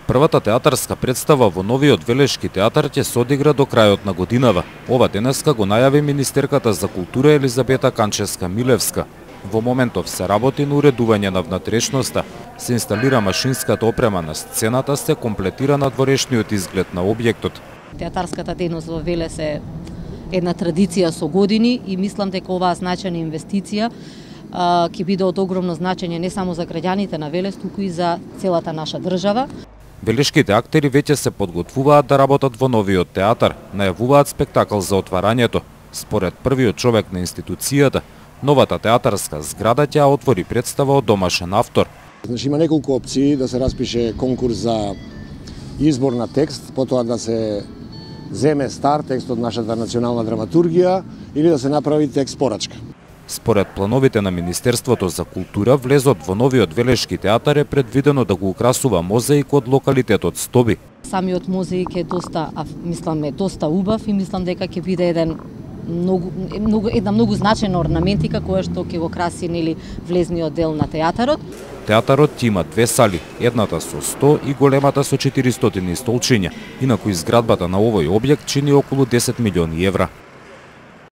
Првата театарска представа во новиот Велешки театар ќе се одигра до крајот на годинава. Ова денеска го најави министерката за култура Елизабета Канчевска-Милевска. Во моментов се работи на уредување на внатрешноста, се инсталира машинската опрема на сцената, се комплетира надворешниот изглед на објектот. Театарската дејност во Велес е една традиција со години и мислам дека оваа значајна инвестиција ќе биде од огромно значење не само за граѓаните на Велес, туку и за целата наша држава. Велешките актери веќе се подготвуваат да работат во новиот театар, најавуваат спектакл за отварањето. Според првиот човек на институцијата, новата театарска зграда ќе отвори представа од домашен автор. Значи, има неколку опции да се распише конкурс за избор на текст, потоа да се земе стар текст од нашата национална драматургија или да се направи текст порачка. Според плановите на Министерството за култура, влезот во новиот Велешки театар е предвидено да го украсува мозаик од локалитетот Стоби. Самиот мозаик е доста убав и мислам дека ќе биде една многу значајна орнаментика која што ќе го краси влезниот дел на театарот. Театарот ќе има две сали, едната со 100 и големата со 400 столчиња, инаку изградбата на овој објект чини околу 10 милиони евра.